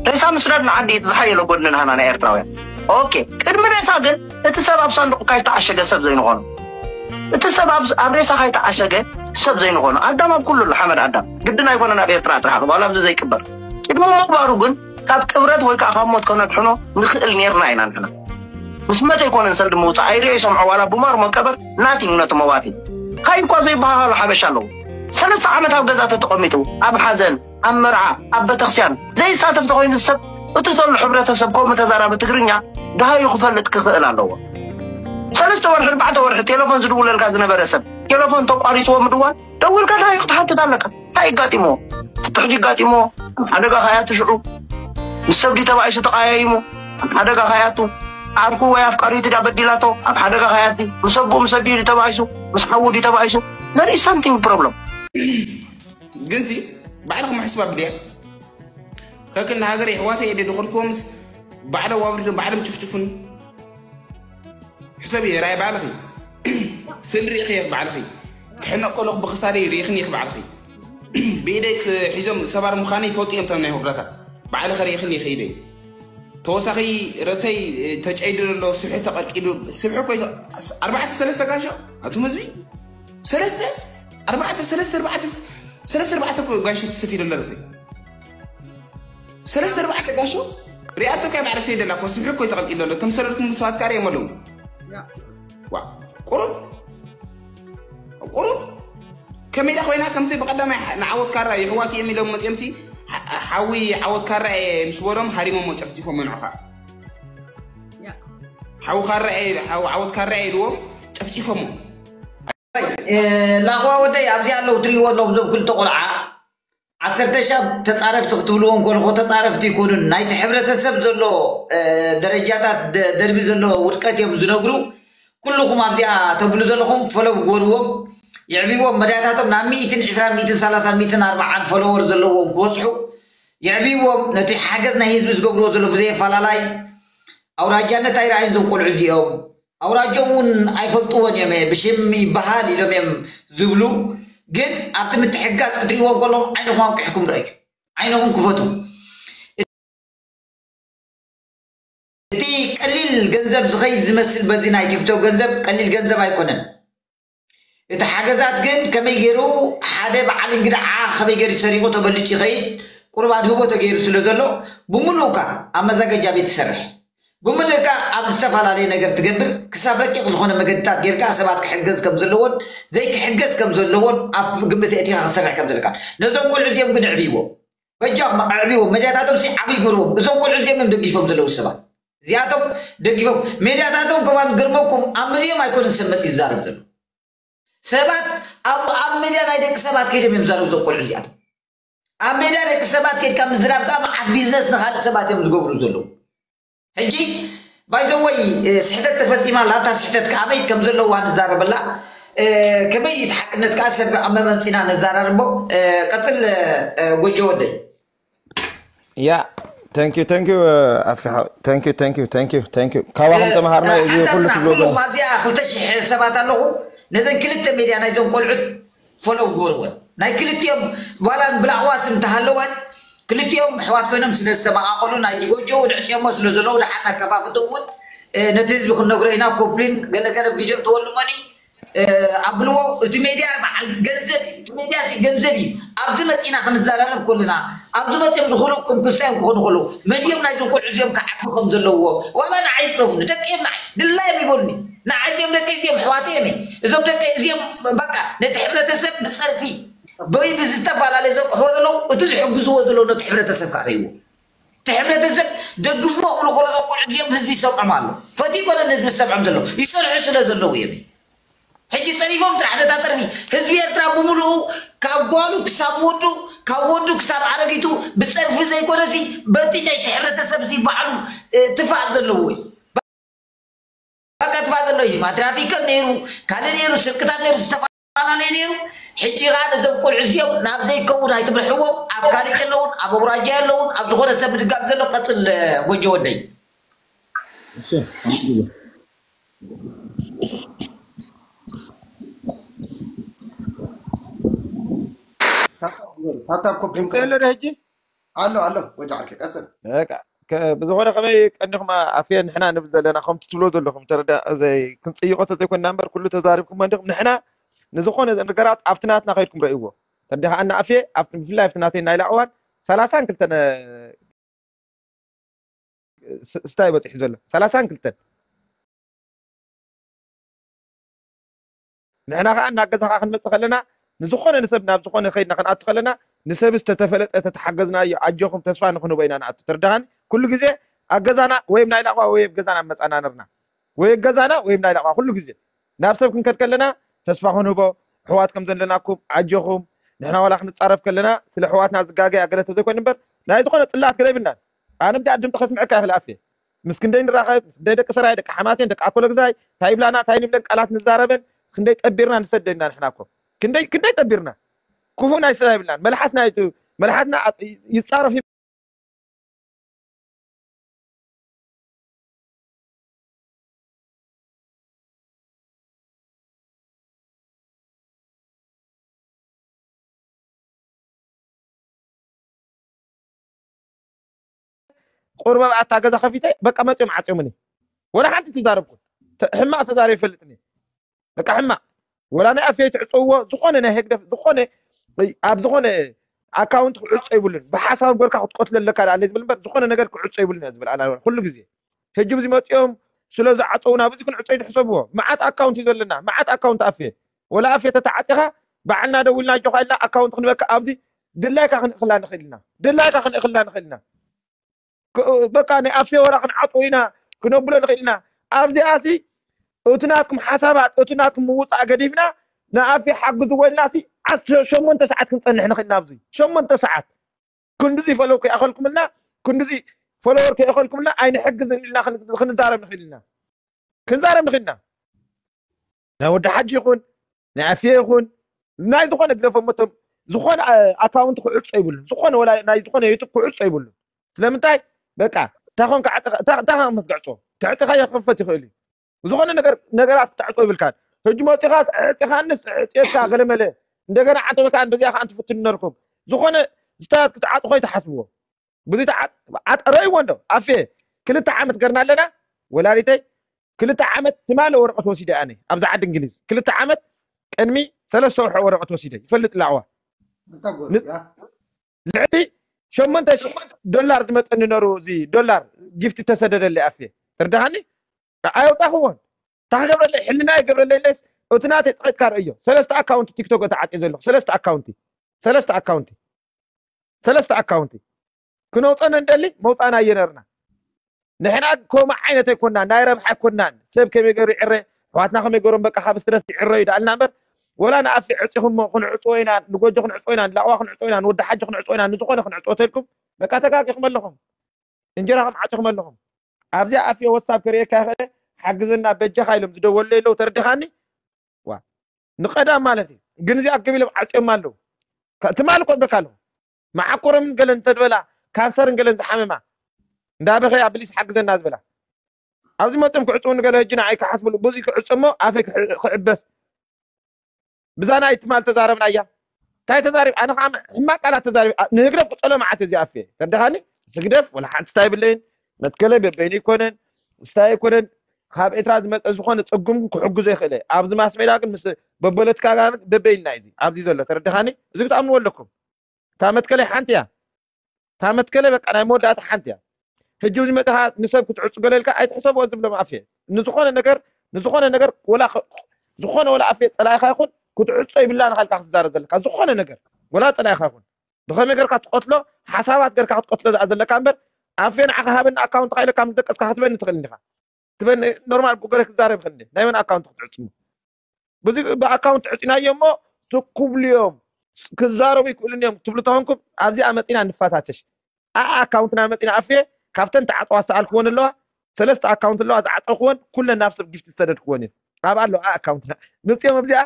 ሬሳ ምስዳድ ንዓዲ እቲ ዝሓየለ ጎድኒ ንሃና ናይ ኤርትራውያን። ኦኬ፣ ቅድሚ ሬሳ ግን እቲ ሰብ ኣብ ሳንዱቕ ካይተዓሸገ ሰብ ዘይንኾኖ፣ እቲ ሰብ ኣብ ኣብ ሬሳ ካይተዓሸገ ሰብ ዘይንኾኖ። ኣዳም ኣብ ኩሉ ኣሎ፣ ሓመድ ኣዳም ግድን ኣይኮነን ኣብ ኤርትራ ጥራሕ ክባል ኣብዚ ዘይቅበር። ቅድሚ ምቕባሩ ግን ካብ ቅብረት ወይ ከዓ ካብ ሞት ከነድሕኖ ንኽእል ኔርና ኢና ንሕና። ምስ መተ ኣይኮነን ሰልዲ ምውፃእ ኣይሪኦ ይሰምዖ ዋላ ቡማር መቀበር ናቲንግ ነቲ መዋቲ። ካይ እኳ ዘይበሃሃሉ ሓበሻ ኣለዉ። ሰለስተ ዓመት ኣብ ገዛ ተተቐሚጡ ኣብ ሓዘን ኣብ መርዓ ኣብ ቤተክርስትያን ዘይሳተፍ ተኮይኑ ሰብ እቲ ዘሎ ሕብረተሰብ ከምኡ ተዛራቢ ትግርኛ ደሃዩ ክፈልጥ ክኽእል ኣለዎ። ሰለስተ ወርሒ ኣርባዕተ ወርሒ ቴሌፎን ዝድውለልካ ዝነበረ ሰብ ቴሌፎን ተቋሪፅዎ ምድዋል ደውልካ ደሃዩ ክትሓትት ኣለካ። እንታይ ይጋጢሞ? ፍትሕ ይጋጢሞ? ኣብ ሓደጋ ካያቱ ሽዑ ምስ ሰብ ድዩ ተባኢሱ ተቃያይሙ ኣብ ሓደጋ ካያቱ ዓርኩ ወይ ኣፍቃሪቱ ድያ በዲላቶ ኣብ ሓደጋ ካያቲ ምስ ኣቦኡ ምስ ኣዲኡ ድዩ ተባኢሱ ምስ ሓዉ ድዩ ተባኢሱ? There is something problem። ግንሲ ባዕልኹም ሕስባ ብድያ ከክንዲ ሃገር የሕዋተ የደ ድኽርኩምስ ባዕለ ዋብሪዶ ባዕለም ጭፍጭፉኒ ሕሰብ እየ ራይ ባዕልኺ ስል ሪእኺ እየ ባዕልኺ ክሕነቅ ከለኹ ብኽሳደይ ሪእኽኒ እየ ባዕልኺ ብኢደይ ሒዞም ሰባር ምዃነይ ይፈልጡ እዮም ተም ናይ ወግዳታት ባዕልኺ ሪእኽኒ እየ ከይደይ ተወሳኺ ርእሰይ ተጨይዱ ዘሎ ስብሒ ተቐርቂዱ ስብሒ ኮይ ኣርባዕተ ሰለስተ ጋሻ ኣቱም ህዝቢ ሰለስተ ኣርባዕተ ሰለስተ ኣርባዕተ ሰለስተ ኣርባዕተ ጋሻ ትሰፊ ዘሎ ርእሰይ ሰለስተ ኣርባዕተ ጋሻ ሪኣቶ ካይ ባዕሪ ሰይ ደላ ኮ ስብሒ ኮይ ተቐርቂዱ ዘሎ እቶም ሰለስቱም ሰባት ካር እዮም ኣለዉ ቁሩብ ቁሩብ ከመይ ኢላ ኮይና ከምቲ ብቐዳማይ ንዓወት ካራ የሕዋት እዮም ኢሎም መፅኦም ሲ ሓዊ ዓወት ካራ ምስ በሎም ሃሪሞሞ ጨፍጭፎም መንዑኻ ሓዊ ካራ ዓወት ካራ ኢልዎም ጨፍጭፎሞ ላኽዋ ወደይ ኣብዚ ኣለዉ ትሪእዎ ኣለኹም እዞም ክልተ ቆልዓ ዓሰርተ ሻብ ተፃረፍቲ ክትብልዎም ከለኹ ተፃረፍቲ ይኮኑን ናይቲ ሕብረተሰብ ዘሎ ደረጃታት ደርቢ ዘሎ ውድቀት እዮም ዝነግሩ ኩልኹም ኣብዚኣ ተብሉ ዘለኹም ፈለው ግበርዎም የዕብዎም መዳያታቶም ናብ ሚእትን ዕስራን ሚእትን ሰላሳን ሚእትን ኣርባዓን ፈለወር ዘለዎም ክበፅሑ የዕብዎም ነቲ ሓገዝ ናይ ህዝቢ ዝገብርዎ ዘሎ ብዘየፈላላይ ኣውራጃነት ኣይረኣዩን ዞም ቆልዑ እዚኦም ኣውራጆም እውን ኣይፈልጥዎን እዮም ብሽም ይበሃል ኢሎም እዮም ዝብሉ ግን ኣብቲ ምትሕጋዝ ክትሪእዎም ከለኹም ዓይንኹም ኣንቂሕኩም ረኣዩ ዓይንኹም ክፈቱ እቲ ቀሊል ገንዘብ ዝኸይድ ዝመስል በዚ ናይ ቲክቶክ ገንዘብ ቀሊል ገንዘብ ኣይኮነን እቲ ሓገዛት ግን ከመይ ገይሩ ሓደ በዓል እንግድዓ ከመይ ገይሩ ሰሪቑ ተበሊፁ ይኸይድ ቁሩብ ኣድህቦ ተገይሩ ስለ ዘሎ ብምሉእካ ኣብ መዛገጃ ቤት ትሰርሕ ብምልእካ ኣብ ዝተፈላለየ ነገር ትገብር ክሳብ ረቂቕ ዝኾነ መገድታት ጌርካ ሰባት ክሕገዝ ከም ዘለዎን ዘይክሕገዝ ከም ዘለዎን ኣብ ግምት እቲኻ ክሰርሕ ከም ዘለካ ነዞም ቆልዑ እዚኦም ግን ዕብይዎም በጃ ዕብይዎም መድያታቶም ሲ ዓብይ ገርዎም እዞም ቆልዑ እዚኦም እዮም ደጊፎም ዘለዉ ሰባት እዚኣቶም ደጊፎም ሜድያታቶም ከማን ግርመኩም ኣብ ምድዮም ኣይኮነን ሰብ መፅኡ ዝዛረብ ዘሎ ሰባት ኣብ ኣብ ሜድያ ናይ ደቂ ሰባት ከይዶም እዮም ዝዛረቡ እዞም ቆልዑ እዚኣቶም ኣብ ሜዳ ደቂ ሰባት ከድካ ምዝራብ ከዓ መዓት ቢዝነስ ንካልእ ሰባት እዮም ዝገብሩ ዘለዉ ሕጂ ባይዘወይ ስሕተት ተፈፂማ ላታ ስሕተት ከኣበይ ከም ዘለዋ ንዛረበላ ከመይ እቲ ሓቅነት ከዓ ሰብ ኣብ መመምፂና ነዛራርቦ ቀፅል ጎጆ ወደይ ያ thank you thank you ኣፊሓ thank you thank you thank you thank you ካባኹም ተምሃርና እዚ ኩሉ ትብሎ ዘለኹም ኣብዚኣ ክልተ ሽሕ ሰባት ኣለኹ ነዘን ክልተ ሜድያ ናይዞም ቆልዑት ፈለው ግበርወን ናይ ክልቲኦም ዋላ ብላዕዋ ስም እንተሃለወን ክልቲኦም ኣሕዋት ኮይኖም ስለ ዝተመቓቐሉ ናይ ጎጆ እውን ዕፅዮሞ ስለ ዘለዉ ደሓር ነከፋፍቶ እውን ነቲ ህዝቢ ክንነግሮ ኢና ኮፕሊን ገለገለ ቪድዮ ትወልሞኒ ኣብልዎ እቲ ሜድያ በዓል ገንዘብ እዩ እቲ ሜድያ ሲ ገንዘብ እዩ ኣብዚ መፂና ክንዘራረብ ከለና ኣብዚ መፅኦም ዝኽእሉ ቅምኩሳዮም ክኾኑ ከለዉ መድዮም ናይዞም ቆልዑ እዚኦም ክዓቢ ከም ዘለውዎ ዋላ ንዓይ ይፅረፉኒ ደቂ እዮም ንዓይ ድላዮም ይበሉኒ ንዓይ እዚኦም ደቂ እዚኦም ኣሕዋተይ እዮም እዞም ደቂ እዚኦም በቃ ነቲ ሕብረተሰብ ብፀርፊ ወይ ብዝተፈላለየ ዘቅሕዎ ዘለዉ እቲ ዝሕግዝዎ ዘለዉ ነቲ ሕብረተሰብ ከዓ ከይዎ እቲ ሕብረተሰብ ደግፍዎ ክብሉ ከሎ እዞም ቆልዑ እዚኦም ህዝቢ ይሰምዖም ኣሎ ፈትዩ ኮነ ንህዝቢ ዝሰምዖም ዘለዉ ይሰርሑ ስለ ዘለዉ እዮም ሕጂ ፀሪፎም ጥራሕ ነታ ፀርፊ ህዝቢ ኤርትራ ብምሉኡ ካብ ጓሉ ክሳብ ወዱ ካብ ወዱ ክሳብ ኣረጊቱ ብፀርፊ ዘይኮነሲ በቲ ናይቲ ሕብረተሰብ ዚ ባዕሉ ትፋእ ዘለዎ እዩ በቃ ትፋእ ዘሎ እዩ ማትራፊከር ነይሩ ካልእ ነይሩ ስርቅታት ነይሩ ዝተፈላለየ ነይሩ ሕጂ ከዓ ነዞም ቆልዑ እዚኦም ናብ ዘይከውን ኣይትምርሕዎም ኣብ ካልእ የለውን ኣብ ኣውራጃ የለውን ኣብ ዝኾነ ሰብ ምድጋፍ ዘሎ ቀፅል ጎጆ ወደይ ታብታብ ኮፕሊንግ እንቀለ ሕጂ ኣሎ ኣሎ ወጃ ዓርከይ ቀጽል። በቃ ብዝኾነ ከመይ ቀኒኹም ኣፍየ ንሕና ንብል ዘለና ከምቲ ትብሎ ዘለኹም ተረዳ ዘይ ክንጽይቆ ተዘይኮንና እምበር ኩሉ ተዛሪብኩም እንዲኹም ንሕና ንዝኾነ ነገራት ኣብቲ ናትና ከይድኩም ረእይዎ ተረዲኻ ኣና ኣፍየ ኣብቲ ብፍላይ ኣብቲ ናተይ ናይ ላዕዋን ሰላሳን ክልተን ስታይ በፂሑ ዘሎ ሰላሳን ክልተን ንሕና ከዓ እናገዛኻ ክንመፅእ ከለና ንዝኾነ ንሰብ ናብ ዝኾነ ከይድና ክንኣቱ ከለና ንሰብ ዝተተፈለጠ ተተሓገዝናዮ ኣጆኹም ተስፋ ንክንህቦ ኢና ንኣቱ ተርዳኻኒ ኩሉ ግዜ ኣብ ገዛና ወይም ናይ ላዕዋ ወይ ኣብ ገዛና መፃና ነርና ወይ ኣብ ገዛና ወይም ናይ ላዕዋ ኩሉ ግዜ ናብ ሰብ ክንከድ ከለና ተስፋ ክንህቦ ኣሕዋት ከም ዘለናኩም ኣጆኹም ንሕና ዋላ ክንፃረፍ ከለና ስለ ኣሕዋትና ዝጋገያ ገለ ተዘይኮይኑ እምበር ናይ ዝኾነ ፅላት ገለ ይብልናን ኣነ ብዳ ድምፂ ከስምዐካ ይኽእል ኣፌ ምስ ክንደይ ንራኸብ ምስ ክንደይ ደቂ ሰራይ ደቂ ሓማሴን ደቂ ኣኮለግዛይ እንታይ ይብላና እንታይ ንብለን ቃላት ንዛረበን ክንደይ ጠቢርና ንሰደድና ንሕና እኮ ክንደይ ክንደይ ጠቢርና ክፉእ ናይ ስራ ይብልናን መልሓስና ይቱ መልሓስና ይፃረፍ ቁርበብ ኣታ ገዛ ከፊተ በቃ መፅኦም ዓፅዮምኒ ወላ ሓንቲ ትዛረብኩ ሕማቅ ተዛሪብ ይፈልጥኒ በቃ ሕማቅ ወላ ናይ ኣፍየይ ትዕፀውዎ ዝኾነ ናይ ህግደፍ ዝኾነ ኣብ ዝኾነ ኣካውንት ክዕፆ ይብሉን ብሓሳብ ገርካ ክትቆትለ ኣለካ ኣለ ዝብል እምበር ዝኾነ ነገር ክዕፆ ይብሉን እያ ዝብል ኣላ ኩሉ ግዜ ሕጂ ብዚ መፂኦም ስለ ዝዓፀውና ብዚ ክንዕፀ ይድሕሰብዎ መዓት ኣካውንት እዩ ዘለና መዓት ኣካውንት ኣፍየ ወላ ኣፍየ ተተዓፂኻ ባዕልና ደዊልና ኣጆኻ ኢልና ኣካውንት ክንበካ ኣብዚ ድላይካ ክንእክላ ንኽእል ኢና ድላይካ ክንእክላ ንኽእል ኢና በቃ ናይ ኣፍየ ወላ ክንዓፅዎ ኢና ክነብሎ ንኽእል ኢና ኣብዚኣ ሲ እቲ ናትኩም ሓሳባት እቲ ናትኩም ምውፃእ ገዲፍና ንኣፍየ ሓግዝዎ ኢልና ሲ ዓሰርተ ሸሞንተ ሰዓት ክንፀንሕ ንኽእል ኢና ኣብዚ ሸሞንተ ሰዓት ክንድዚ ፈለው ከይኣኸልኩምልና ክንድዚ ፈለወር ከይኣኸልኩምልና ኣይንሕግዝን ኢልና ክንዛረብ ንኽእል ኢና ክንዛረብ ንኽእል ኢና ናይ ወዲ ሓጂ ይኹን ናይ ኣፍየ ይኹን ናይ ዝኾነ ግደፎ መቶም ዝኾነ ኣካውንት ክዕጾ ይብሉን ዝኾነ ወላ ናይ ዝኾነ ዩቱብ ክዕጾ ይብሉን ስለምንታይ በቃ እንታይ ኮንካ እንታይ ክትግዕጾ ትዕጥኻ ክኸፈት ይኽእል እዩ ዝኾነ ነገር ነገራት ክትዕጾ ይብልካን ሕጂ መፂኻስ ዕፂኻንስ ዕፅየካ ገለመለ እንደገና ዓንተ መካን በዚኣ ከዓ እንትፍትኑ ነርኩም ዝኾነ ዝታት ክትዓጡ ከይትሓስብዎ ብዙ ረይዎ እንዶ ኣፌ ክልተ ዓመት ገርና ኣለና ወላዲተይ ክልተ ዓመት ትማለ ወረቀት ወሲደ ኣነ ኣብዚ ዓዲ እንግሊዝ ክልተ ዓመት ቅድሚ ሰለስተ ወርሒ ወረቀት ወሲደ ይፈልጥ ላዕዋ ልዕሊ ሸሞንተ ሺሕ ዶላር ዝመፀኒ ነሩ እዚ ዶላር ጊፍቲ ተሰደደለይ ኣፌ ትርዳሃኒ ኣየውጣኽዎን ታክገብረለይ ሕልና ይገብረለይ ለስ እቲ ናተይ ፀቂጥካ ርእዮ ሰለስተ ኣካውንቲ ቲክቶክ ተዓፅየ ዘለኹ ሰለስተ ኣካውንቲ ሰለስተ ኣካውንቲ ሰለስተ ኣካውንቲ ክነውፀን እንደሊ መውፃና እየነርና ንሕና ከምኡ ዓይነት ኣይኮናን ናይ ረብሓ ኣይኮናን ሰብ ከመይ ገሩ ይዕረ ኣሕዋትና ከመይ ገሮም በቃ ካብ ስትረስ ይዕረ እዩ ዳኣልና እምበር ወላ ንኣፊ ዕፂኹሞ ክንዕፅዎ ኢና ንጎጆ ክንዕፅዎ ኢና ንላቕዋ ክንዕፅዎ ኢና ንወዲ ሓጂ ክንዕፅዎ ኢና ንዝኾነ ክንዕፅዎ ተልኩም በቃ ተጋጊኹም ኣለኹም እንጀራኹም ዓፂኹም ኣለኹም ኣብዚኣ ኣፊ ወትሳፕ ከርእየካ ይኽእል ሓግዘና በጃኻ ኢሎም ዝደወሉ ኣለዉ ተረዲኻኒ ዋ ንቐዳም ማለት እዩ ግን እዚኣ ገቢሎም ዓፅዮም ኣለዉ ትማል እኮ በካ ኣለኹ መዓኮሮምን ገለን እንተድበላ ካንሰርን ገለን ዝሓመማ እንዳበኸያ ብሊስ ሓግዘና ዝበላ ኣብዚ መፅኦም ክዕፅው ንገለ ህጂ ንዓይ ክሓስብሉ ብዙ ክዕፅሞ ኣፈይ ክዕበስ ብዛ ናይ ትማል ተዛረብና እያ እንታይ ተዛሪብ ኣነ ከዓ ሕማቅ ቃላት ተዛሪብ ንህግደፍ ክፀሎ መዓት እዚ ኣፌ ተደኻኒ ስግደፍ ወላ ሓንቲ ስታይ ብለይን መትከለ በበይኑ ይኮነን ስታይ ይኮነን ካብ ኤርትራ ዝመፀ ዝኾነ ፀጉም ክሕግዞ ይኽእለ ኣብዚ ማስሜዳ ግን ምስ በፖለቲካ ጋር በበይልና እዩ ኣብዚ ዘሎ ተረድኻኒ እዚ ክትኣምንዎ ኣለኩም እታ መትከለ ሓንቲ እያ እታ መትከለ በቃ ናይ መወዳእታ ሓንቲ እያ ሕጂ ዝመፅኻ ንሰብ ክትዕፁ ገለልካ ኣይትሕሰብዎ ዝብሎም ኣፌ ንዝኾነ ነገር ንዝኾነ ነገር ወላ ዝኾነ ወላ ኣፌ ፀላኢኻ ይኹን ክትዕፆ ይብላ ንኻልካ ክትዛረብ ዘለካ ዝኾነ ነገር ወላ ፀላኢኻ ይኹን ብኸመይ ገርካ ትቆትሎ ሓሳባት ገርካ ክትቆትሎ ዝኣ ዘለካ እምበር ኣፌ ንዓኻ ሃበኒ ኣካውንትካ ኢለ ካብ ዝደቀስካ ክትበኒ ትኽእል እንዲኻ ትበኒ ኖርማል ብገረ ክዛረብ ይኽእል ናይ መን ኣካውንት ክትዕፅሞ ብዙ ብኣካውንት ዕፂናዮ እሞ ስኩብሉ እዮም ክዛረቡ ይክእሉን እዮም ትብሉ ተኾንኩም ኣብዚኣ መፂና ንፈታተሽ ኣኣ ኣካውንትና መፂና ኣፍየ ካብተን ተዓፀዋ ዝተኣልክወን ኣለዋ ሰለስተ ኣካውንት ኣለዋ ዝዓፀኽወን ኩለን ናብ ሰብ ጊፍቲ ዝሰደድክወን እየን ኣብ ኣሎ ኣኣ ኣካውንትና ምፅኦም ኣብዚኣ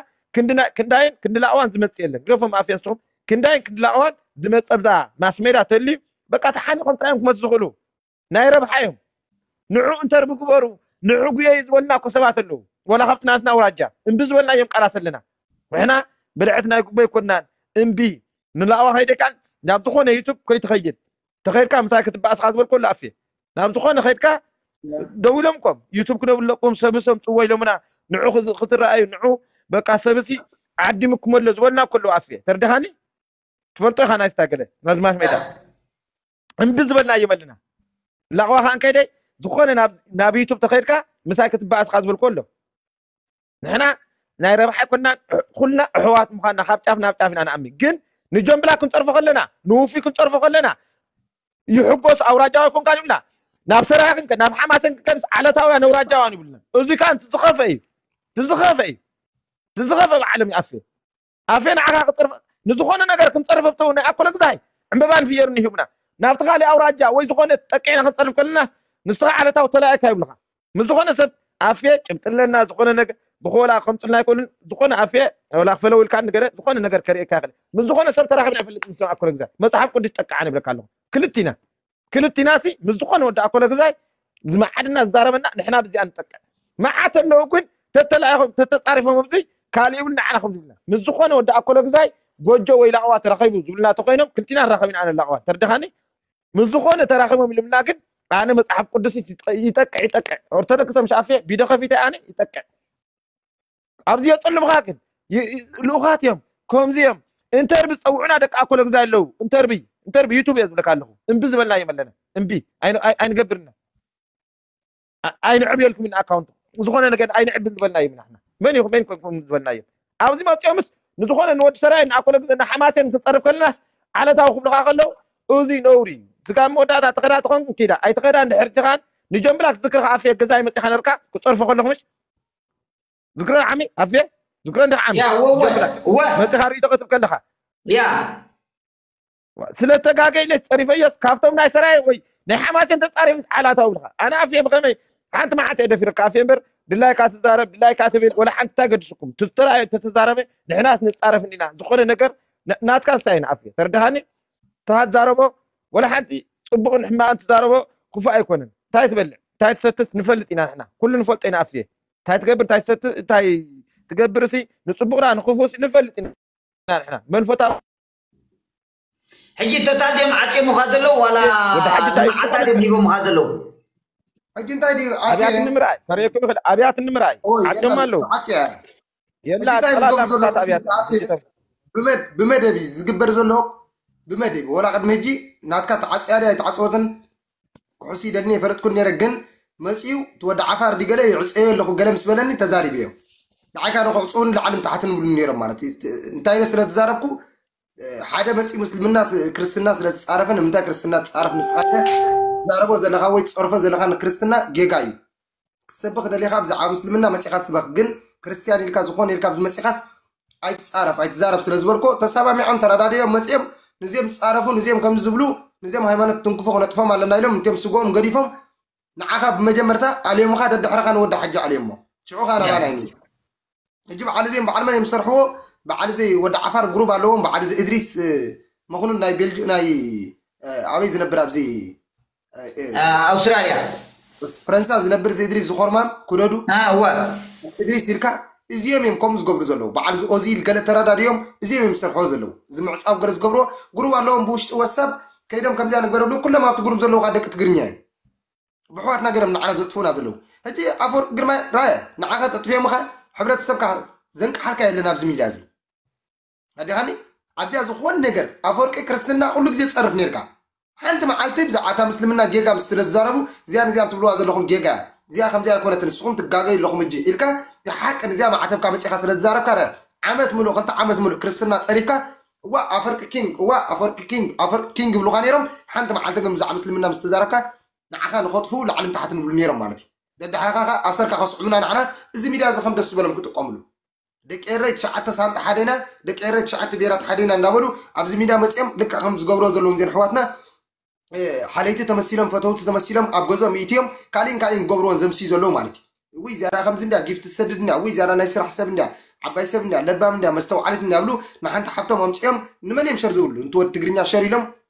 ክንዳይን ክንድላእዋን ዝመፅእ የለን ግደፎም ኣፍየ ንስኹም ክንዳይን ክንድላእዋን ዝመፀ ብዛ ማስሜዳ ተልዩ በቃ ተሓኒቆም ጥራዮም ክመፁ ዝኽእሉ ናይ ረብሓ እዮም ንዑ እንተርቢ ግበሩ ንዑ ጉየዩ ዝበሉና እኮ ሰባት ኣለዉ ወላ ካብቲ ናትና ኣውራጃ እምቢ ዝበልናዮም ቃላት ኣለና ንሕና ብልዕቲ ናይ ጉቦ ኣይኮናን እምቢ ንላእዋ ከይደካን ናብ ዝኾነ ዩቱብ ከይትኸይድ ተኸይድካ ምሳይ ክትበኣስ ካ ዝበልኮ ኣሎ ኣፌ ናብ ዝኾነ ኸይድካ ደዊሎም ኮም ዩቱብ ክነብለቁም ሰብሶም ፅዎ ኢሎምና ንዑ ክትረኣዩ ንዑ በቃ ሰብሲ ዓዲምኩም ኣሎ ዝበልና ከለዉ ኣፌ ተርድኻኒ ትፈልጦ ኢኻ ናይ ስታገለ ናዝማች ሜዳ እምቢ ዝበልና እዮም ኣለና ላቕዋ ከዓ እንከይደ ዝኾነ ናብ ዩቱብ ተኸይድካ ምሳይ ክትበኣስ ካ ዝበልኮ ኣሎ ንሕና ናይ ረብሓ ኣይኮንና ኩልና ኣሕዋት ምዃንና ካብ ጫፍ ናብ ጫፍ ኢና ንኣምን ግን ንጀምብላ ክንፀርፎ ከለና ንውፉይ ክንፀርፎ ከለና ይሕጎስ ኣውራጃዊ ኮንካ ንብላ ናብ ሰራያ ክንከ ናብ ሓማሰን ክንከንስ ዓለታውያን ኣውራጃውያን ይብልና እዚ ከዓ ትዝኸፈ እዩ ትዝኸፈ እዩ ትዝኸፈ ብዓለም ይኣፍ ኣፌ ንዓኻ ክፀርፍ ንዝኾነ ነገር ክንፀርፍ ኣብተው ናይ ኣኮለ ግዛይ ዕምበባን ፍየርን ይህቡና ናብቲ ካሊእ ኣውራጃ ወይ ዝኾነ ጠቂዕና ክንፀርፍ ከለና ንስኻ ዓለታዊ ተላኢካ ይብልኻ ምስ ዝኾነ ሰብ ኣፌ ጭብጢ ኣለና ዝኾነ ነገር ብኾላ ከምፅልና ኣይኮኑን ዝኾነ ኣፌ ወላ ክፈለው ኢልካ ንገረ ዝኾነ ነገር ከርእየካ ይኽእል ምስ ዝኾነ ሰብ ተራኺብና ይፈልጥ ምስ ኣኮለ ግዛይ መፅሓፍ ቅዱስ ጠቃዓ ንብለካ ኣለኹ ክልቲና ክልቲናሲ ምስ ዝኾነ ወዲ ኣኮለ ግዛይ ዝመዓድና ዝዛረበና ንሕና ብዚኣ ንጠቅዕ መዓት ኣለዉ ግን ተተላኢኹም ተተፃሪፎም ኣብዚ ካልእ ይብል ንዓና ከም ዝብልና ምስ ዝኾነ ወዲ ኣኮለ ግዛይ ጎጆ ወይ ላቕዋ ተረኺቡ ዝብልና ተኮይኖም ክልቲና ንራኸብ ኢና ኣነ ላቕዋ ተርድኻኒ ምስ ዝኾነ ተራኺቦም ኢልምና ግን ኣነ መፅሓፍ ቅዱስ ይጠቅዕ ይጠቅዕ ኦርቶዶክስ ምሽ ኣፌ ቢዶ ከፊተ ኣነ ይጠቅዕ ኣብዚ የፅልምኻ ግን ልኡኻት እዮም ከምዚ እዮም እንተርቢ ዝፀውዑና ደቂ ኣኮለ ግዛይ ኣለዉ እንተርቢ እንተርቢ ዩቱብ እየ ዝብለካ ኣለኹ እምቢ ዝበልና እዮም ኣለና እምቢ ኣይንገብርና ኣይንዕብየልኩም ኢና ኣካውንት ዝኾነ ነገር ኣይንዕብን ዝበልና እዮም ናሕና መን ይኹ መን ኮንኩም ዝበልና እዮም ኣብዚ መፅኦምስ ንዝኾነ ንወዲ ሰራይ ንኣኮለ ግዘ ንሓማሴን ክንፀርብ ከለናስ ዓለታዊ ክብልኻ ከለዉ እዚ ነውሪ እዩ ስጋብ መወዳእታ ተኸዳ ተኾንኩም ኪዳ ኣይተኸዳ እንድሕር ጅኻን ንጀምብላ ክትዝክርኻ ኣፍየ ገዛይ መፂኻ ነርካ ክፀርፎ ከለኹ ምሽ ዝክረ ዓሚ ኣፍየ ዝክረ እንደ ዓሚ ያ ወወ ወ መፅኻ ሪኢቶ ክትብ ከለኻ ያ ስለ ተጋገ ኢለ ፀሪፈዮስ ካብቶም ናይ ሰራየ ወይ ናይ ሓማሴን ተፃሪፍ ዓላታዊ ብልኻ ኣነ ኣፍየ ብኸመይ ሓንቲ መዓት እየ ደፊረካ ኣፍየ እምበር ድላይካ ትዛረብ ድላይካ ትብል ወላ ሓንቲ እንታይ ገድስኩም ትዝተራእዮ ተተዛረበ ንሕናስ ንፃረፍ እንዲና ዝኾነ ነገር ናትካ እንታይ ኢና ኣፍየ ተረዳሃኒ ተሃዛረቦ ወላ ሓንቲ ፅቡቕን ሕማቕን ትዛረቦ ክፉእ ኣይኮነን እንታይ ትበልዕ እንታይ ትሰትስ ንፈልጥ ኢና ንሕና ኩሉ ንፈልጦ ኢና ኣፍየ እንታይ ትገብር እንታይ ትሰትስ እንታይ ትገብር ሲ ንፅቡቕና ንክፉእ ሲ ንፈልጥ ኢና ንሕና መንፈታ ሕጂ ቶታል ድዮም ዓፅዮምኻ ዘለዉ ዋላ ወዲ ሓጂ እንታይ ንመዓልታ ድዮም ሂቦምኻ ዘለዉ ሕጂ እንታይ ድዩ ኣፌ ኣብያት ንምርኣይ ተርእየኩም ይኽእል ኣብያት ንምርኣይ ኦይ ዓፅዮም ኣለዉ ተዓፅያ የላ እንታይ ዝገብሩ ጠላላ ዘሎ ምሳት ኣብያት ብመድ- ብመደብ እዩ ዝግበር ዘሎ ብመደብ ወላ ቅድሚ ሕጂ ናትካ ተዓፅያ ድያ ኣይተዓፅወትን ክሕሱ ይደልኒ የፈለጥኩን ነረ ግን መፅዩ እቲ ወዲ ዓፋር ድገለ ይዕፀዮ ኣለኹ ገለ ምስ በለኒ ተዛሪበ እዮም ንዓይካ ዶ ክዕፅውን ላዕልን ታሕትን ብሉ ነይሮም ማለት እዩ እንታይ ኢለ ስለ ተዛረብኩ ሓደ መፅኡ ምስልምና ክርስትና ስለ ዝፃረፈ ንምንታይ ክርስትና ትፃረፍ ንስኻ ትዛረቦ ዘለኻ ወይ ትፀርፎ ዘለኻ ንክርስትና ጌጋ እዩ ክትሰብኽ ደሊኻ ብዛዕባ ምስልምና መፂኻ ስበኽ ግን ክርስትያን ኢልካ ዝኾነ ኢልካ ኣብዚ መፂኻስ ኣይትፃረፍ ኣይትዛረብ ስለ ዝበልኮ ተሰማሚዖም ተረዳድዮም መፂኦም ንዚኦም ዝፃረፉ ንዚኦም ከም ዝብሉ ንዚኦም ሃይማኖት ትንክፎ ክነጥፎም ኣለና ኢሎም እንቲኦም ስጎኦም ገዲፎም ንዓኻ ብመጀመርታ ኣልዮምኻ ደድሕርኻ ንወዲ ሓጂ ኣልዮሞ ሽዑኻ ናባና ይኒ ሕጂ በዓል እዚኦም በዓል መን እዮም ዝሰርሕዎ በዓል እዚ ወዲ ዓፋር ግሩብ ኣለዎም በዓል እዚ እድሪስ መኹኑን ናይ ቤልጅ ናይ ኣበይ ዝነብር ኣብዚ ኣውስትራልያ ፈረንሳ ዝነብር እዚ እድሪስ ዝኮርማን ኩደዱ እወ እድሪስ ኢልካ እዚኦም እዮም ከምኡ ዝገብሩ ዘለዉ በዓል እዚ ኦዚል ገለ ተረዳድዮም እዚኦም እዮም ዝሰርሕዎ ዘለዉ እዚ ምዕፃው ገለ ዝገብርዎ ግሩብ ኣለዎም ብውሽጢ ወሳብ ከይዶም ከምዚያ ንግበረሉ ኩሎም ኣብቲ ግሩብ ዘለዉ ከዓ ደቂ ትግርኛ እዮም ብሕዋትና ገይሮም ንዓና ዘጥፉና ዘለዉ ሕጂ ኣፈወርቂ ግርማይ ራየ ንዓኻ ተጥፍዮምኻ ሕብረተሰብካ ዘንቅሓልካ የለን ኣብዚ ሚድያ እዚ ኣዲኻኒ ኣብዚኣ ዝኾን ነገር ኣፈወርቂ ክርስትና ኩሉ ግዜ ትፀርፍ ነርካ ሓንቲ መዓልቲ ብዛዕባ እታ ምስልምና ጌጋ ምስ ስለ ዝዛረቡ እዚኣ ነዚኣ ትብልዋ ዘለኹም ጌጋ እያ እዚኣ ከምዚኣ ኣይኮነትን ንስኹም ትጋገዩ ኣለኹም እጂ ኢልካ ሓቂ ንዚኣ ማዕተብካ መፂኻ ስለ ዝዛረብካ ዓመት ሙሉእ ክልተ ዓመት ሙሉእ ክርስትና ፀሪፍካ እዋ ኣፈርቂ ኪንግ እዋ ኣፈርቂ ኪንግ ኣፈርቂ ኪንግ ይብሉካ ነይሮም ሓንቲ መዓልቲ ግን ብዛዕባ ምስልምና ምስ ተዛረብካ ንዓኻ ንኸጥፍኡ ላዕልን ታሕትን ይብሉ ነይሮም ማለት እዩ ደድሓኻ ኣሰርካ ከስዑምና ንዓና እዚ ሚድያ እዚ ከም ደስ ዝበሎም ክጥቀምሉ ደቂ ኤረይ ትሽዓተ ሳንጣ ሓደና ደቂ ኤረይ ትሽዓተ ብሄራት ሓደና እንዳበሉ ኣብዚ ሚድያ መፅኦም ልክዕ ከም ዝገብሮ ዘለዉ ዜን ኣሕዋትና ሓለይቲ ተመሲሎም ፈተውቲ ተመሲሎም ኣብ ገዝኦም ኢትዮም ካሊእን ካሊእን ገብርዎን ዘምስዩ ዘለዉ ማለት እዩ እውይ ዝያዳ ከምዚ እንድያ ጊፍቲ ትሰድድ እንድያ እውይ ዝያዳ ናይ ስራሕ ሰብ እንድያ ዓባይ ሰብ እንድያ ለባም እንድያ መስተውዓሊት እንድያ ብሉ ንሓንቲ ሓብቶም ኣምፅኦም ንመን እዮም ሸር ዝብሉ እንት ወድ ትግርኛ ሸር ኢሎም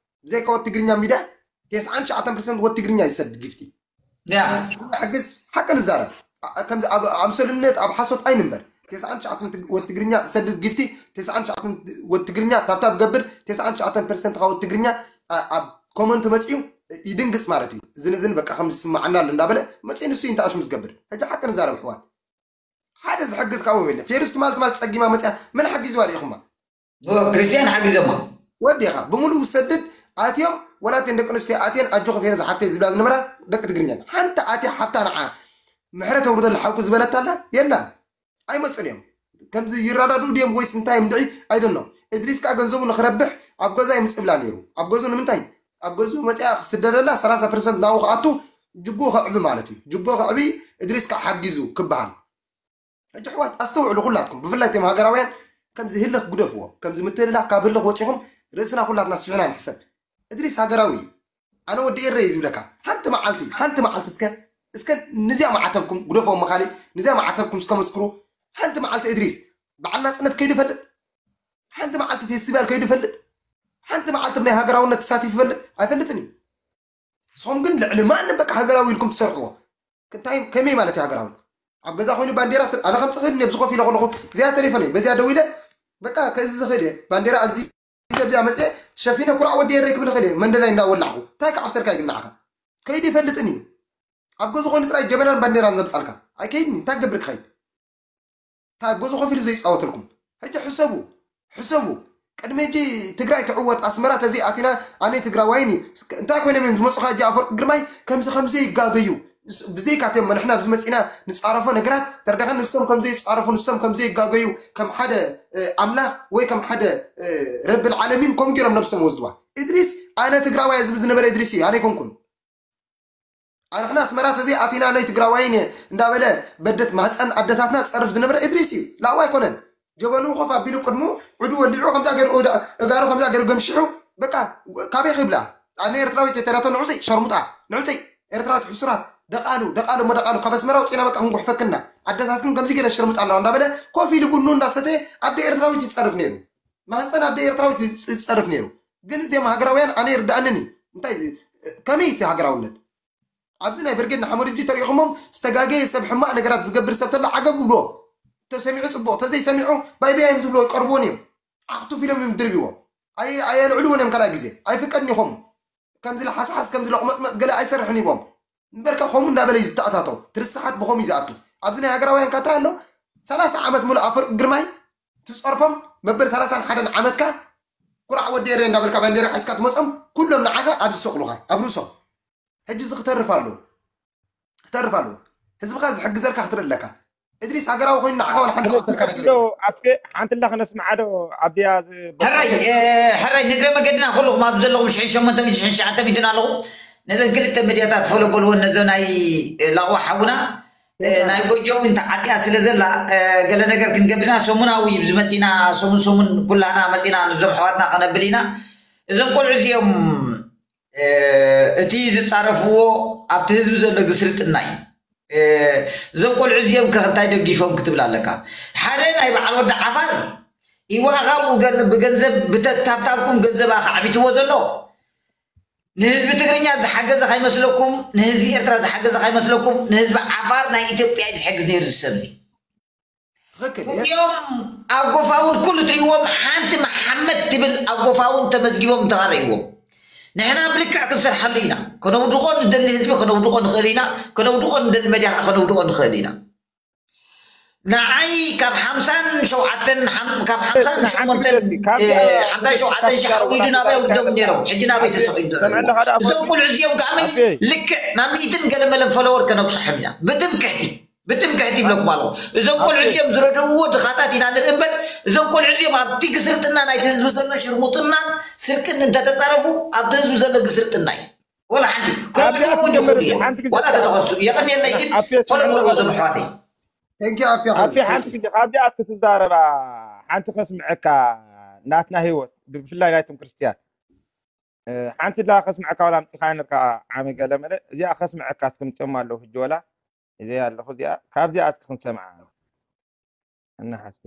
ብዘይካ ወድ ትግርኛ ሚድያ ተስዓን ትሽዓተን ፐርሰንት ወድ ትግርኛ ይሰድ ጊፍቲ ያ ሕግዝ ሓቂ ንዛረብ ከምዚ ኣብ ኣምሰሉነት ኣብ ሓሶት ኣይንንበር ተስዓን ትሽዓተን ወድ ትግርኛ ዝሰድድ ጊፍቲ ተስዓን ትሽዓተን ወድ ትግርኛ ታብታብ ገብር ተስዓን ትሽዓተን ፐርሰንት ካብ ወድ ትግርኛ ኣብ ኮመንት መፅዩ ይድንግፅ ማለት እዩ። እዝን እዝን በቃ ከምዚ ዝስማዓና ኣሎ እንዳበለ መፅዩ ንሱ እዩ እንተኣሽሙ ዝገብር። ሕጂ ሓቂ ንዛረብ ኣሕዋት፣ ሓደ ዝሕግዝ ካብኦም የለ። ፌሩስ ትማል ትማል ፀጊማ መፅያ መን ሓጊዝዋ ርኢኹማ? ክርስቲያን ሓጊዞማ። ወዲኻ ብምሉእ ሰድድ ኣትዮም፣ ወላተን ደቂ ኣንስትዮ ኣትየን ኣጆኺ ፌሩዝ ሓብተይ ዝብላ ዝነበራ ደቂ ትግርኛ፣ ሓንቲ ኣትያ ሓብታ ንዓ ምሕረት ኣውርደላ ሓውኪ ዝበለታ ኣላ? የላን። ኣይመፁን እዮም። ከምዚ ይረዳድኡ ድዮም ወይስ እንታይ እዮም ድዒ? ኣይደኖ። እድሪስ ከዓ ገንዘቡ ንክረብሕ ኣብ ገዛ ይምፅብላ ነይሩ። ኣብ ገዙ ንምንታይ? ኣብ ገዙ መፅያ ክስደደላ ሰላሳ ፐርሰንት ናብኡ ክኣቱ ጅጎ ከዕቢ ማለት እዩ። ጅጎ ከዕቢ እድሪስ ከዓ ሓጊዙ ክበሃል። ሕጂ ኣሕዋት ኣስተውዕሉ ኩላትኩም፣ ብፍላይ እቶም ሃገራውያን ከምዚ ህልኽ ግደፍዎ። ከምዚ ምትህልላኽ ካብ ህልኽ ወፂኹም ርእስና ኩላትና ስፊሕና ንሕሰብ። እድሪስ ሃገራዊ እዩ። ኣነ ወዲ ኤረ እዩ ዝብለካ። ሓንቲ መዓልቲ ሓንቲ መዓልቲ እስከ እስከ ንዚኣ ማዕተብኩም ግደፍዎ፣ መኻሊ ንዚኣ ማዕተብኩም እስከ መስክሩ። ሓንቲ መዓልቲ እድሪስ በዓል ናፅነት ከይዱ ይፈልጥ? ሓንቲ መዓልቲ ፌስቲቫል ከይዱ ይፈልጥ? ሓንቲ መዓልቲ ብናይ ሃገራውነት ተሳቲፉ ይፈልጥ? ኣይፈልጥን እዩ። ንስኹም ግን ልዕሊ ማንም በቃ ሃገራዊ ኢልኩም ትሰርሕዎ። እንታይ ከመይ ማለት እዩ ሃገራዊ? ኣብ ገዛ ኮይኑ ባንዴራ ስር ኣነ ከምፅ ክእል ኣብዚ ኮፍ ኢለ ከለኹ እዚኣ ቴሌፎነይ በዚኣ ደው ኢለ በቃ ከዚ ዝኽእል እየ ባንዴራ እዚ ኣብዚኣ መፅአ ሸፊነ ኩራዕ ወዲ ኤረይ ክብል ክእል እየ መንደላይ እንዳወላዕኹ እንታይ ክዓብሰልካ ይግናዕኻ? ከይዲ ይፈልጥን እዩ። ኣብ ገዙ ኮይኑ ጥራይ ጀበናን ባንዴራን ዘምፃልካ ኣይከይድን እንታይ ክገብር ክኸይድ? እንታይ ኣብ ገዙ ኮፍ ኢሉ ዘይፃወተልኩም? ሕጂ ሕሰቡ፣ ሕሰቡ። ቅድሚ ሕጂ ትግራይ ትዕወት ኣስመራ ተዘይኣቲና ኣነ ትግራዋይን እዩ። እንታይ ኮይኖም እዮም ዝመፁ? ካጂ ኣፈወርቂ ግርማይ ከምዚ ከምዚ ይጋገዩ። ብዘይካትዮም ንሕና ኣብዚ መፂና ንፃረፎ ነገራት ተርዳኸ ንሶም ከምዘይ ይፃረፉ ንሶም ከምዘይ ይጋገዩ ከም ሓደ ኣምላኽ ወይ ከም ሓደ ረብል ዓለሚን ከምኡ ገይሮም ነብሶም ወስድዋ። እድሪስ ኣነ ትግራዋይ ዝብል ዝነበረ እድሪስ እዩ፣ ኣነ ኣይኮንኩን። ኣንሕና ኣስመራ ተዘይ ኣቲና ናይ ትግራዋይን እየ እንዳበለ በደት ማህፀን ኣደታትና ዝፀርፍ ዝነበረ እድሪስ እዩ። ላው ኣይኮነን። ጀበኑ ኮፍ ኣቢሉ ቅድሙ ዕዱ ወሊዑ ከምዛ ገይሩ እዳ- እጋሩ ከምዛ ገይሩ ገምሽሑ በቃ ካበይ ክብላ ኣነ ኤርትራዊት የተረቶ ንዑፀይ ሸርሙጣ ንዑፀይ ኤርትራዊት ሕሱራት ደቃሉ ደቃሉ እሞ ደቃሉ ካብ ኣስመራ ውፅና በቃ ክንጉሕፈክና ኣደታትኩም ከምዚ ገይረ ሸርሙጣ ኣለዋ እንዳበለ ኮፍ ኢሉ ቡኑ እንዳሰተ ኣደ ኤርትራዊት ይፀርፍ ነይሩ። ማህፀን ኣደ ኤርትራዊት ይፀርፍ ነይሩ። ግን እዚኦም ሃገራውያን ኣነ ይርዳእንን እዩ። እንታይ ከመይ እቲ ሃገራውነት ኣብዚ ናይ ብርጌድ ንሓመዱ እጂ ተሪኢኹሞም ዝተጋገየ ሰብ ሕማቕ ነገራት ዝገብር ሰብ ተሎ ዓገብ ብልዎ። ተሰሚዑ ፅቡቕ ተዘይሰሚዑ ባይባይ እዮም ዝብልዎ ይቀርብዎን እዮም። ኣኽቱፍ ኢሎም እዮም ድርብዎ። ኣየልዕልዎን እዮም ካልኣይ ግዜ ኣይፍቀድን ኢኹም። ከምዚ ለሓስሓስ ከምዚ ለቑመፅመፅ ገለ ኣይሰርሕን ይቦም። እምበርከ ከምኡ እንዳበለ እዩ ዝተኣታተው ትርስሓት ብኸም እዩ ዝኣቱ። ኣብዚ ናይ ሃገራውያን ካታ ኣሎ ሰላሳ ዓመት ሙሉእ ኣፈር ግርማይ ትፀርፎም መበል ሰላሳን ሓደን ዓመትካ ኩራዕ ወዲ ኤረ እንዳበልካ ባንዴራ ሒዝካ ትመፆም ኩሎም ንዓኻ ኣብ ዝሰቕሉኻ ኣብ ርእሶም ሕጂ እዚ ክተርፍ ኣለዎ ክተርፍ ኣለዎ። ህዝብኻ ዝሕግዘልካ ክትርኢ ኣለካ። እድሪስ ሃገራዊ ኮይኑ ንዓኻ ዋላ ሓንቲ ክወሰልካ ነገር የለን። ኣፌ ሓንቲ ላ ክነስምዓ ዶ ኣብዚኣ ዝ- ሕራይ እ፣ ሕራይ ንግረ መገድና ኩልኹም ኣብ ዘለኹም ሽሕን ሸሞንተን ሽሕን ሸዓተ ሚእትን ኣለኹም። ነዘን ክልተ መድያታት ፈሎ በልወን ነዞ ናይ እ፣ ላቕዋ ሓውና እ፣ ናይ ጎጆ እውን ተዓፅያ ስለ ዘላ እ፣ ገለ ነገር ክንገብርና ሰሙናዊ እዩ ዝመፂና ሰሙን ሰሙን ኩላና መፂና ንዞም ኣሕዋትና ከነብል ኢና። እዞም ቆልዑ እዚኦም እቲ ዝፃረፍዎ ኣብቲ ህዝቢ ዘሎ ግስርጥና እዩ። እዞም ቆልዑ እዚኦም ከ እንታይ ደጊፎም ክትብል ኣለካ? ሓደ ናይ በዓል ወዲ ዓፋር ይዋእኻ ብገንዘብ ብተታብታብኩም ገንዘብ ኣኻዕቢትዎ ዘሎ ንህዝቢ ትግርኛ ዝሓገዘ ካይመስለኩም፣ ንህዝቢ ኤርትራ ዝሓገዘ ካይመስለኩም፣ ንህዝቢ ዓፋር ናይ ኢትዮጵያ እዩ ዝሕግዝ ነይሩ ዝሰብ እዚ። ትኽክል። እዚኦም ኣብ ጎፋውን ኩሉ ትሪእዎም ሓንቲ መሓመድ ትብል ኣብ ጎፋውን ተመዝጊቦም እንተኻረእዎም ንሕና ብልክዕ ክንሰርሓሉ ኢና። ከነውድቆ ንደሊ ህዝቢ ከነውድቆ ንኽእል ኢና። ከነውድቆ ንደሊ መድያ ከነውድቆ ንኽእል ኢና። ንዓይ ካብ ሓምሳን ሸውዓተን ካብ ሓምሳን ሸሞንተን ሓምሳን ሸውዓተን ሺሕ ኣውሪዱ ናበይ ኣውርዶም ነይሮም ሕጂ ናበይ ተሰቒሉ እዞም ቆልዑ እዚኦም ከዓመይ ልክዕ ናብ ሚእትን ገለመለን ፈለወር ከነብፅሖም ኢና ብትምክሕቲ ብትምክሕቲ ይብለኩም ኣለኹ። እዞም ቆልዑ እዚኦም ዝረድእዎ ድኻታት ኢና ንርኢ እምበር እዞም ቆልዑ እዚኦም ኣብቲ ግስርጥና ናይቲ ህዝቢ ዘሎ ሽርሙጥናን ስርቅን እንተተፃረፉ ኣብቲ ህዝቢ ዘሎ ግስርጥና እዩ። ወላ ሓንቲ ክረድእዎ ይኽእሉ እዮም። ወላ ተተኸሱ የቐንየለይ ግን ፈለቁ እዞም ኣሕዋተይ። ሕጊ ኣፍያ ኣፌ ሓንቲ ግዜ ካብዚኣት ክትዛረባ ሓንቲ ከስምዐካ ናትና ህይወት ብፍላይ ናይቶም ክርስትያን ሓንቲ ላ ከስምዐካ ዋላ ኣምፂኻ ነርካ ዓሚ ገለመለ እዚኣ ከስምዐካ ትምፅኦም ኣለዉ ሕጂ ወላ እዚ ኣለኹ እዚኣ ካብዚኣ እስኪ ክንሰምዓ እናሓስቢ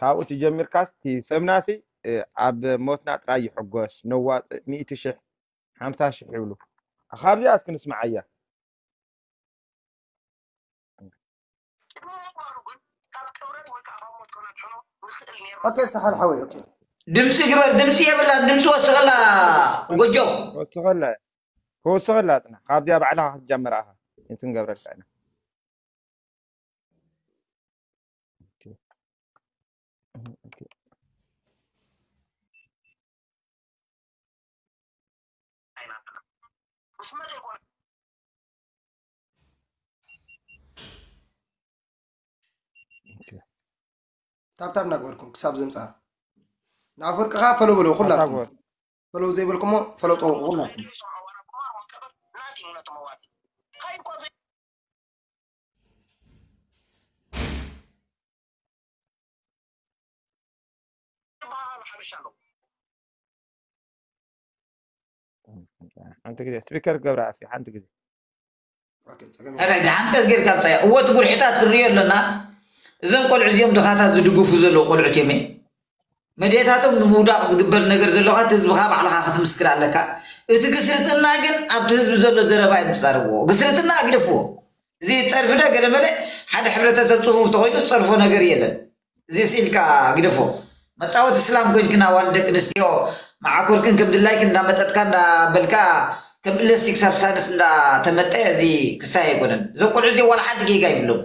ካብኡ ትጀሚርካስ እቲ ሰብናሲ ኣብ ሞትና ጥራይ ይሕጎስ ነዋፅእ ሚእቲ ሽሕ ሓምሳ ሽሕ ይብሉ ካብዚኣ እስኪ ንስምዓያ ኦኬ ሰሓል ሓወይ ኦኬ ድምፂ ግበር፣ ድምፂ የብላን። ድምፂ ወስኸላ። ጎጆ። ክወስኸላ፣ ክወስኸላ ፅና። ካብዚኣ ባዕልኻ ክትጀምር ኣኻ። እንትን ገብረልካ ኢና። ታብታብ እናግበርኩም ክሳብ ዘምፃ። ንኣፈወርቂ ከዓ ፈሎ በሎ ኩላትኩም። ፈሎ ዘይበልኩሞ ፈሎ ጠውቁ ኩላትኩም። ሓንቲ ግዜ ስፒከር ክገብራ ኣፍ ሓንቲ ግዜ ረጋ ሓንቀስ ጌርካ ብፃያ እወ እቲ ጉርሕታት ክንሪኦ ኣለና። እዞም ቆልዑ እዚኦም ድኻታት ዝድግፉ ዘለዉ ቆልዑት እዮም። መድየታቶም ንምውዳቕ ዝግበር ነገር ዘለካ እቲ ህዝብካ ባዕልካ ክትምስክር ኣለካ። እቲ ግስርጥና ግን ኣብቲ ህዝቢ ዘሎ ዘረባ እዮም ዝፃረብዎ። ግስርጥና ኣግደፍዎ። እዚ ፀርፊ ዶ ገለመለ ሓደ ሕብረተሰብ ፅፉፍ ተኮይኑ ዝፀርፎ ነገር የለን። እዚ ስኢልካ ግደፎ። መፃወቲ ስላም ኮይንክን ኣዋልድ ደቂ ኣንስትዮ መዓኮርክን ከም ድላይክን እንዳመጠጥካ እንዳበልካ ከም ኢላስቲክ ሳብስታንስ እንዳተመጠ እዚ ክስታይ ኣይኮነን። እዞም ቆልዑ እዚኦም ዋላ ሓንቲ ጌጋ ይብሎም።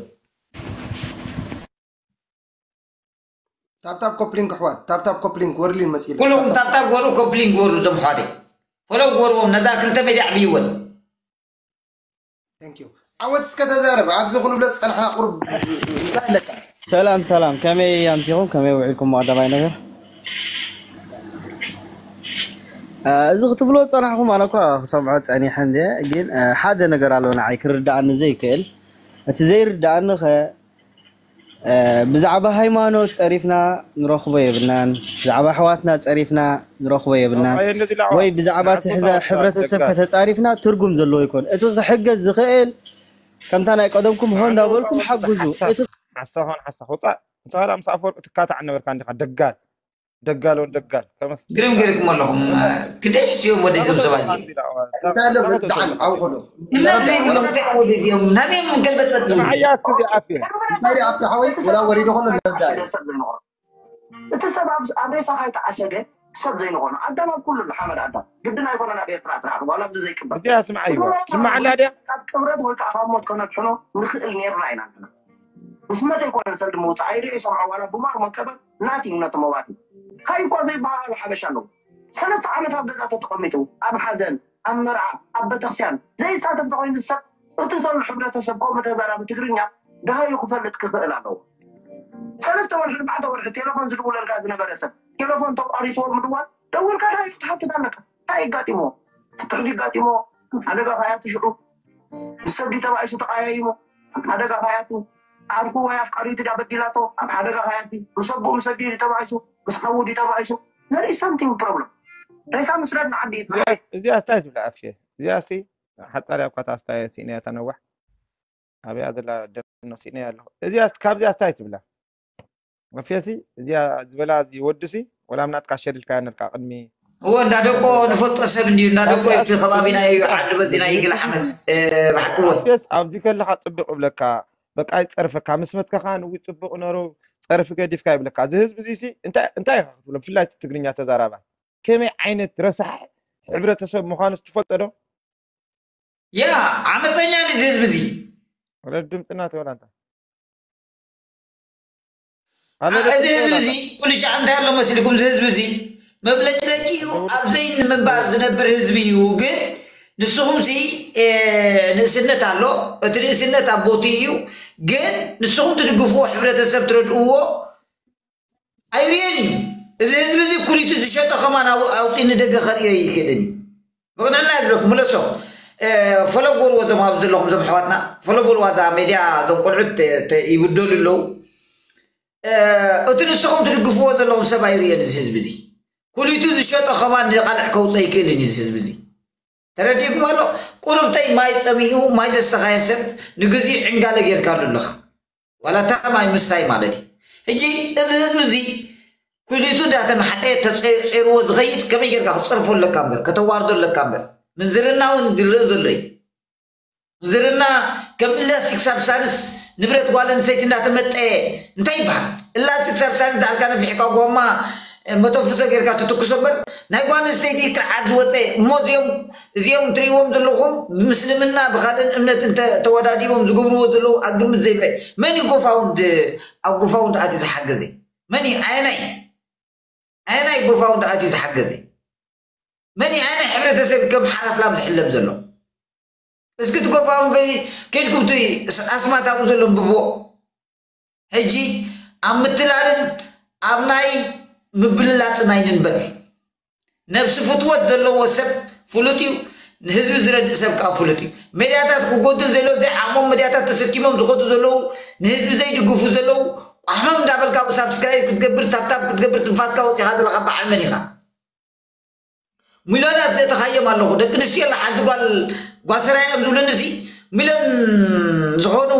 ታብታብ ኮፕሊንክ ኣሕዋት ታብታብ ኮፕሊንክ ወርሊን መፅኢሉ ኩልኩም ታብታብ ግበሩ ኮፕሊንክ ግበሩ እዞም ኣሕዋተይ። ፎሎው ግበርዎም ነዛ ክልተ ሜድያ ኣዕብይወን። ዓወት እስከ ተዛረብ ኣብዚ ክንብሎ ዝፀናሕና ቁሩብ እንታይ ኣለካ? ሰላም ሰላም ከመይ ኣምሲኹም ከመይ ውዒልኩም ቀዳማይ ነገር እዚ ክትብሎ ዝፀናሕኩም ኣነ እኳ ክሰምዖ ፀኒሐ እንደ ግን ሓደ ነገር ኣሎ ንዓይ ክርድኣኒ ዘይክእል እቲ ዘይርድኣኒ ከ ብዛዕባ ሃይማኖት ጸሪፍና ንረኽቦ የብልናን፣ ብዛዕባ ኣሕዋትና ጸሪፍና ንረኽቦ የብልናን፣ ወይ ብዛዕባ እቲ ሕብረተሰብ ከተጻሪፍና ትርጉም ዘለዎ ይኮን። እቲ ክሕገዝ ዝኽእል ከምታ ናይ ቀደምኩም ሆ እንዳበልኩም ሓግዙ። እቲ ሓሳኾን ሓሳኽ ውጻእ። ንስኻ ምስ ኣፈወርቂ ትካታዕ ነበርካ እንዲኻ ደጋል። ደጋል ወን ደጋል ከመስ ግርም ገርኩም ኣለኹም። ክደይ ሲዮም ወደ ዞም ሰባት እንታይ ኣሎ ብጣዕሚ ዓው ከሎ እናብ ዘይብሎም እንታይ ወደ ዚኦም ናበይ ምን ገልበጥ በጥሉ ንዓያ እስኪ ኣፍ እንታይ ደኣ ኣብቲ ሓወይ ወላ ወሪዶ ከሎ ንረዳ እዩ እቲ ሰብ ኣብ ኣብ ሬሳ ካይተዓሸገ ሰብ ዘይንኾኖ ኣዳም ኣብ ኩሉ ኣሎ ሓመድ ኣዳም ግድን ኣይኮነን ኣብ ኤርትራ ጥራሕ ዋላ ኣብዚ ዘይቅበር እዚኣ ስምዓይዋ ስምዓላ ድያ ካብ ቅብረት ወይ ከዓ ካብ ሞት ከነድሕኖ ንኽእል ነርና ኢና ኣለና ብስመት ኣይኮነን ሰልዲ ምውፃእ ኣይሪኦ ይሰምዖ ዋላ ብማር መቀበት ናቲንግ ነቲ መዋቲ ሃይ እኳ ዘይበሃሃሉ ሓበሻ ኣለዉ ሰለስተ ዓመት ኣብ ገዛ ተተቐሚጡ ኣብ ሓዘን ኣብ መርዓ ኣብ ቤተክርስትያን ዘይሳተፍ ተኾይኑ ሰብ እቲ ዘሎ ሕብረተሰብ ከምኡ ተዛራቢ ትግርኛ ደሃዩ ክፈልጥ ክኽእል ኣለዎ ሰለስተ ወርሒ ኣርባዕተ ወርሒ ቴሌፎን ዝድውለልካ ዝነበረ ሰብ ቴሌፎን ተቋሪፅዎ ምድዋል ደውልካ ደሃዩ ክትሓትት ኣለካ እንታይ ይጋጢምዎ ፍትሕ ይጋጢምዎ ሓደጋ ካያቱ ሽዑ ምስ ሰብ ድዩ ተባኢሱ ተቐያይሙ ኣብ ሓደጋ ካያቱ ዓርኩ ወይ ኣፍቃሪቱ ድያ በዲላቶ ኣብ ሓደጋ ካያቲ ምስ ኣቦኡ ምስ ኣዲኡ ድዩ ተባኢሱ ምስ ሓዉ ድዩ ተባኢሱ there is something problem ሬሳ ምስረድ ንዓዲ እዩ ዝኸይድ እዚኣ ስታይ ትብላ ኣፍሸ እዚኣ ሲ ሓፃር ያኳ ታስታየ ሲእነያ ተነዋሕ ኣብያ ዘላ ደኖ ሲእነያ ኣለኹ እዚኣ ካብዚኣ ስታይ ትብላ ኣፍሸ ሲ እዚኣ ዝበላ እዚ ወዲ ሲ ወላ ምናትካ ሸሪልካ ነልካ ቅድሚ እዎ እንዳደቆ ንፈልጦ ሰብ እንድዩ እንዳደቆ እቲ ከባቢና እዩ ዓዲ በዚና ይግል ዓመስ ብሓቅዎ ኣፍሸስ ኣብዚ ከለካ ፅብቅ እብለካ በቃ ይፀርፈካ ምስ መትከኻ ንዊ ፅቡቅ ነሩ ፀርፊ ገዲፍካ ይብለካ እዚ ህዝቢ እዚ ሲ እንታይ እንታይ ኢኻ ክትብሎ ብፍላይ እቲ ትግርኛ ተዛራባ ከመይ ዓይነት ረሳሕ ሕብረተሰብ ምዃኑ ትፈልጦ ዶ ያ ዓመፀኛ እዚ ህዝቢ እዚ ወለድ ድምፅና ትበላ እንታ እዚ ህዝቢ እዚ ኩሉ ሻዕ እንታይ ኣሎ መሲልኩም እዚ ህዝቢ እዚ መብለጭለጭ እዩ ኣብ ዘይንምንባር ዝነብር ህዝቢ እዩ ግን ንስኹም ሲ ንእስነት ኣሎ እቲ ንእስነት ኣብ ቦቲ እዩ ግን ንስኹም ትድግፍዎ ሕብረተሰብ ትረድእዎ ኣይርእየን እዩ እዚ ህዝቢ እዚ ኩሊቱ ዝሸጠ ከማን ኣውፅእ ንደገ ከርእዮ ይክእልን እዩ ብቕንዕና ዝብለኩም ምለሶ ፈለግ ወልዎ ዞም ኣብዚ ዘለኹም ዞም ኣሕዋትና ፈለግ ወልዋ እዛ ሜድያ ዞም ቆልዑት ይብደሉ ኣለዉ እቲ ንስኹም ትድግፍዎ ዘለኹም ሰብ ኣይርእዮን እዚ ህዝቢ እዚ ኩሊቱ ዝሸጦ ከማን ንቃልዕ ከውፀእ ይክእልን እዩ እዚ ህዝቢ እዚ ተረዲእኩም ኣሎ ቁሩብተይ ማይ ፀሚኡ ማይ ዘስተኻየ ሰብ ንግዚኡ ዕንጋለ ጌርካሉ ኣለኻ ዋላ እታ ማይ ምስታይ ማለት እዩ። ሕጂ እዚ ህዝቢ እዚ ኩሊቱ እንዳተማሕጠ ተፀይርዎ ዝኸይድ ከመይ ጌርካ ክትፀርፎ ኣለካ እምበር ከተዋርዶ ኣለካ እምበር ምንዝርና እውን ዝረአ ዘሎ እዩ። ምንዝርና ከም ኢላስቲክ ሳብስታንስ ንብረት ጓል ኣንስተይቲ እንዳተመጠየ እንታይ ይበሃል? ኢላስቲክ ሳብስታንስ እንዳልካ ነፊሕካ ጎማ መተንፍሶ ጌርካ ትትኩሶ እምበር፣ ናይ ጓል ኣንስተይቲ ቅርዓት ዝወፀ እሞ፣ እዚኦም እዚኦም ትርእይዎም ዘለኹም ብምስልምና ብኻልእን እምነት እንተ ተወዳዲቦም ዝገብርዎ ዘለዉ ኣብ ግምት ዘይምርኣይ። መን እዩ ጎፋውንድ ኣብ ጎፋውንድ ኣትዩ ዝሓገዘ? መን እዩ? ኣየናይ ኣየናይ ጎፋውንድ ኣትዩ ዝሓገዘ? መን እዩ? ኣየናይ ሕብረተሰብ ከም ሓራስ ላም ዝሕለብ ዘሎ? እስኪ እቲ ጎፋውንድ ከይድኩም እቲ ኣስማት ኣብኡ ዘሎ እንብብዎ። ሕጂ ኣብ ምትላልን ኣብ ናይ ምብልላጽን ኣይንንበር። ነብሲ ፍትወት ዘለዎ ሰብ ፍሉጥ እዩ። ንህዝቢ ዝረድእ ሰብ ከዓ ፍሉጥ እዩ። ሜድያታት ክጎድል ዘሎ ዘይዓቕሞም ሜድያታት ተሰኪሞም ዝኸዱ ዘለዉ፣ ንህዝቢ ዘይድግፉ ዘለዉ፣ ቋሕሞም እንዳበልካ ኣብኡ ሳብስክራይብ ክትገብር፣ ታብታብ ክትገብር፣ ትንፋስካ ወፂኻ ዘለኻ በዓል መን ኢኻ? ሚልዮናት ዘእተኻዮም ኣለኹ። ደቂ ኣንስትዮ ኣላ ሓንቲ ጓል ጓሰራይ እዮም ዝብሉኒ ሲ ሚልዮን ዝኾኑ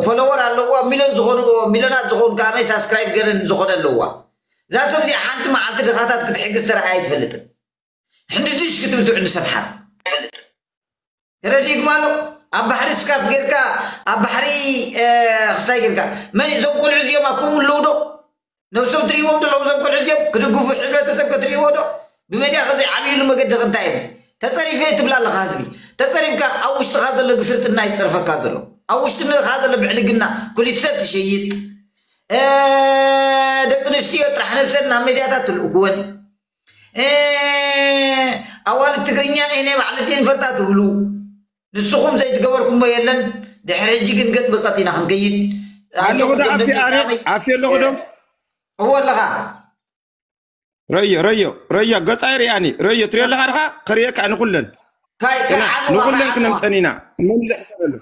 ፎሎወር ኣለዋ፣ ሚልዮን ዝኾኑ ሚልዮናት ዝኾኑ ከኣመይ ሳብስክራይብ ገረን ዝኾነ ኣለዋ። እዛ ሰብ እዚኣ ሓንቲ መዓልቲ ድኻታት ክትሕግዝ ተረኣያ ኣይትፈልጥን። ሕንድድሽ ክትብል ትውዕል ንሰብ ሓር። ተረዲእኩም ኣሎ? ኣብ ባሕሪ ስካፍ ጌርካ ኣብ ባሕሪ ክሳይ ጌርካ መን እዞም ቆልዑ እዚኦም ኣኩም ኣለዉ ዶ? ነብሶም ትርእይዎም ዘለኹም እዞም ቆልዑ እዚኦም ክድግፉ ሕብረተሰብ ከትርእይዎ ዶ? ብመድያ ከዘይ ዓብይሉ መገዲ ክንታይ እዮም? ተጸሪፈ ትብላ ኣለኻ ህዝቢ። ተጸሪፍካ ኣብ ውሽጥኻ ዘሎ ግስርጥና ይጸርፈካ ዘሎ። ኣብ ውሽጥኻ ዘሎ ብዕልግና ኩሊት ሰብ ትሸይጥ። እ፣ ደቂ ኣንስትዮ ጥራሕ ነብሰን ናብ ሜድያታት ትልእክወን። እ፣ ኣዋልድ ትግርኛ እኔ ባዕልቲ ንፈልጣ ትብሉ። ንስኹም ዘይትገበርኩሞ የለን። ድሕሪ ሕጂ ግን ገጥ ብቀጥ ኢና ክንከይድ። ኣለኹ ዶ ኣጆኹም ኣፌ ኣረ ደቂ ኣፌ ኣለኹ ዶ? እዎ ኣለኻ። ረዮ ረዮ ረዮ ገጻይ ርያኒ ረዮ ትሪኦ ኣለኻ ድኻ? ከርእየካ ንኹለን ካይ ንኹለን ክነምፀን ኢና። መን ዝሕሰበሉ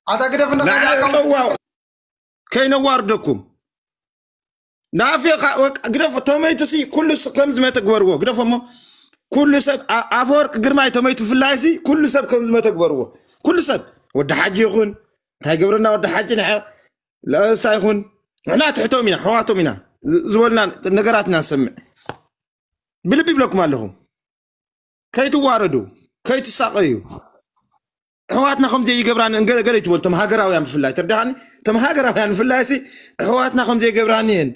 ኣታ ግደፍ ንዓይ እንዳካ ጠዋው ከይነዋርደኩም። ንኣፌ ግደፎ። ተመይቱሲ ኩሉ ስ- ከም ዝመተ ግበርዎ። ግደፎ እሞ ኩሉ ሰብ ኣ- ኣፈወርቂ ግርማይ ተመይቱ ብፍላይሲ ኩሉ ሰብ ከም ዝመተ ግበርዎ። ኩሉ ሰብ ወዲ ሓጂ ይኹን እንታይ ገብረና ወዲ ሓጂ ንሐ ለእስታ ይኹን ንሕና ትሕቶም ኢና ሕዋቶም ኢና ዝ- ዝበሉና ነገራት ኢና ንሰምዕ። ብልቢ ይብለኩም ኣለኹም። ከይትዋረዱ፣ ከይትሳቐዩ። ኣሕዋትና ከም ዘይገብራን ገለ ገለ ይትበሉ፣ እቶም ሃገራውያን ብፍላይ፣ ተርዳኻኒ? እቶም ሃገራውያን ብፍላይ ሲ ኣሕዋትና ከም ዘይገብራን እየን፣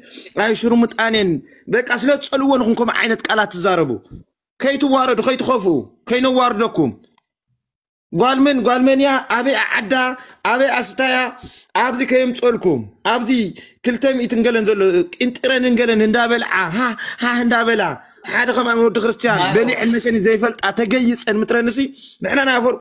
ኣይ ሽርሙጣን እየን፣ በቃ ስለ ዝጸልዎ ንኹም ከምኡ ዓይነት ቃላት ትዛረቡ። ከይትዋረዱ፣ ከይትኸፍኡ፣ ከይነዋርደኩም። ጓል መን፣ ጓል መን እያ? ኣበይ ዓዳ? ኣበይ ኣስታያ? ኣብዚ ከየምጸልኩም። ኣብዚ ክልተ ሚእትን ገለን ዘሎ ቂንጥረንን ገለን እንዳበልዓ፣ ሃ፣ ሃ እንዳበላ፣ ሓደ ከም ወዲ ክርስቲያን ናይ በሊዕን መሸኒ ዘይፈልጣ ተገይጸን ምጥረንሲ፣ ንሕና ናይ ኣፈር